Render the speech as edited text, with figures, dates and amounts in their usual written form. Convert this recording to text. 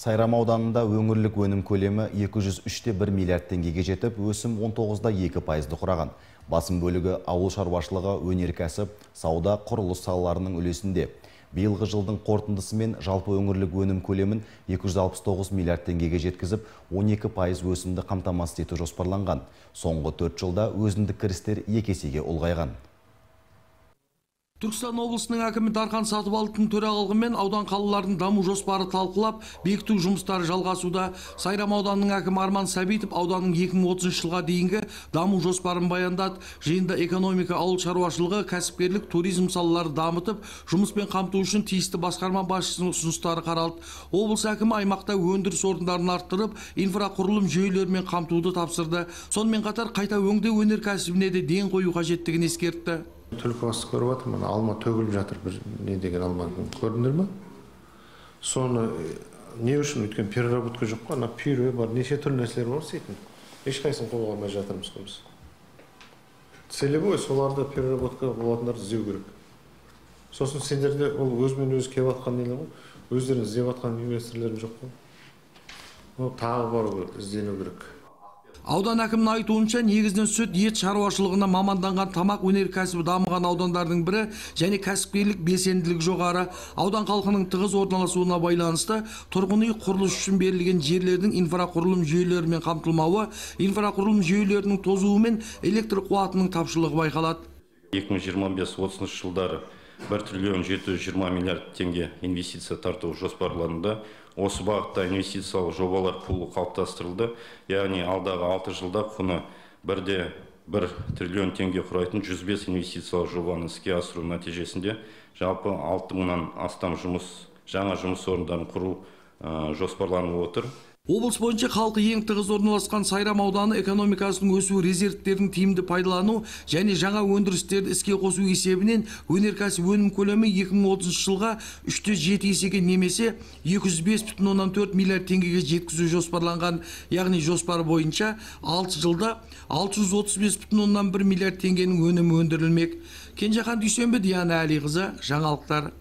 Сайрам ауданында өңірлік өнім көлемі 203,1 миллиард теңгеге жетіп, өсім 19,2%-ды құраған. Басым бөлігі ауыл шаруашылығы, өнеркәсіп, сауда, құрылыс салаларының үлесінде. Биылғы жылдың қорытындысымен жалпы өңірлік өнім көлемін 269 миллиард теңгеге жеткізіп, 12% өсімді қамтамасыз ету жоспарланған. Соңғы 4 жылда өзіндік кірістер 2 есеге ұлғайған. Түркістан облысының әкімі Дархан Сатыбалдың төрағалығымен аудан қалалардың даму жоспары талқылап, бекіту жұмыстары жалғасуда. Сайрам ауданының әкімі Арман Сәбитов ауданның 2030 жылға дейінгі даму жоспарын баяндады. Жиында экономика, ауыл шаруашылығы, кәсіпкерлік, туризм салалары дамытып, жұмыспен қамту үшін тиісті басқарма басшысының ұсыныстары қаралды. Облыс әкімі аймақта өндіріс орындарын арттырып, инфрақұрылым жүйелерімен қамтуды тапсырды. Сонымен қатар қайта өңдеу өнеркәсібіне де ден қою қажеттігін ескертті. Түлкібасты көріп жатыр, мына алма төгіліп жатыр, бір не деген алма көрдіңдер ме? Соны не үшін өткен переработка жоқ қой, ана пюре бар, неше түрлі нәрселер бар істейтін. Ешқайсысын қолға алмай жатырмыз көбісі. Целевой соларды переработка болатындар іздеу керек. Сосын сендерде ол өзімен өзі келіп жатқан нелер ғой, өздерін іздеп жатқан инвесторлар жоқ қой. Ол тағы бар іздену керек. Аудан әкімінің айтуынша, негізінен сүт, ет шаруашылығына маманданған тамақ өнеркәсібі дамыған аудандардың бірі және кәсіпкерлік белсенділігі жоғары. Аудан халқының тығыз орналасуына байланысты тұрғын үй құрылыс үшін берілген жерлердің инфрақұрылым жүйелерімен қамтылмауы, инфрақұрылым жүйелерінің тозуы мен электр қуатының тапшылығы байқалады. 2025-30 жылдары 1 триллион 720 миллиард теңге инвестиция тарту жоспарланды. Осы бағытта инвестициялық жобалар пулы қалыптастырылды. Яғни алдағы 6 жылда құны 1,1 триллион теңге құрайтын 105 инвестициялық жобаны іске асыру нәтижесінде жалпы 6000-нан астам жаңа жұмыс орындарын құру жоспарланып отыр. Облыс бойынша халқы ең тығыз орналасқан Сайрам ауданы экономикасының өсу резервтерін тиімді пайдалану және жаңа өндірістерді іске қосу есебінен өнеркәсіп өнім көлемі 2030 жылға 3,7 есеге немесе 205,4 миллиард теңгеге жеткізу жоспарланған. Яғни жоспар бойынша 6 жылда 635,1 миллиард теңгенің өнімі өндірілмек. Кенжехан Дүйсенбі, Диана Әлиқызы, жаңалықтар.